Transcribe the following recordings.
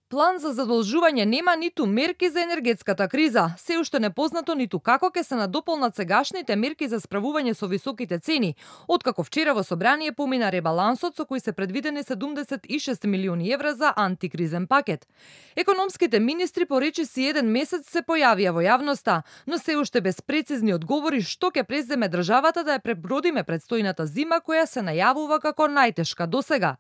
План за задолжување нема ниту мерки за енергетската криза. Се уште непознато ниту како ќе се надополнат сегашните мерки за справување со високите цени, откако вчера во собрание помина ребалансот со кој се предвидени 76 милиони евра за антикризен пакет. Економските министри по речиси еден месец се појавија во јавноста, но се уште без прецизни одговори што ќе преземе државата да ја пребродиме предстојната зима која се најавува како најтешка досега.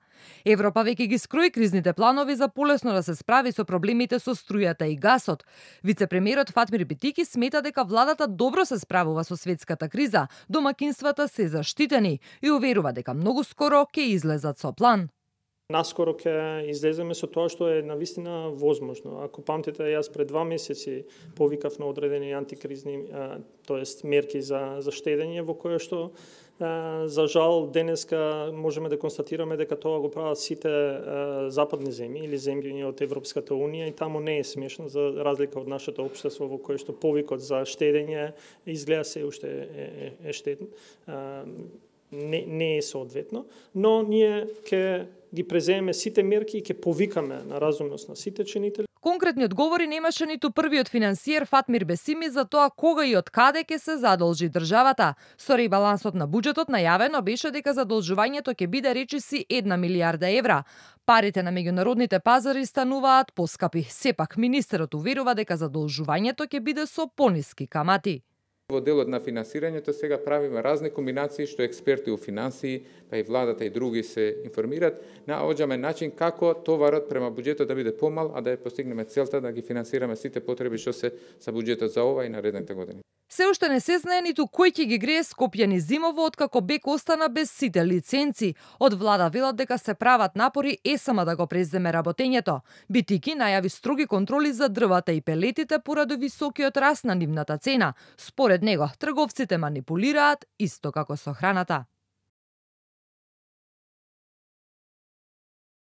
Европа веќе ги скрои кризните планови за полесно да се справи со проблемите со струјата и гасот. Вице-премиерот Фатмир Битики смета дека владата добро се справува со светската криза, домакинствата се заштитени и уверува дека многу скоро ќе излезат со план. Наскоро ќе излеземе со тоа што е навистина возможно. Ако памтите, јас пред 2 месеци повикав на одредени антикризни, тоест мерки за штедење, во кое што за жал денеска можеме да констатираме дека тоа го прават сите западни земји или земји од Европската унија и таму не е смешно за разлика од нашето општество во кое што повикот за штедење изгледа се уште е штеден. Не е соодветно, но ние ќе ги преземеме сите мерки и ќе повикаме на разумност на сите чинители. Конкретни одговори немаше ниту првиот финансиер Фатмир Бесими за тоа кога и од каде ќе се задолжи државата. Со ребалансот на буџетот најавено беше дека задолжувањето ќе биде речиси 1 милиарда евра. Парите на меѓународните пазари стануваат поскапи. Сепак министерот уверува дека задолжувањето ќе биде со пониски камати. Во делот на финансирањето сега правиме разни комбинации што експерти у финансии, па и владата и други се информираат, наоѓаме начин како товарот према буџетот да биде помал, а да ја постигнеме целта да ги финансираме сите потреби што се за буџетот за ова и наредните години. Се уште не се знае ниту кој ќе ги грее Скопјани зимово откако БЕК остана без сите лиценци. Од влада велат дека се прават напори ЕСМ да го преземе работењето. Битики најави строги контроли за дрвата и пелетите поради високиот раст на нивната цена. Според него, трговците манипулираат исто како со храната.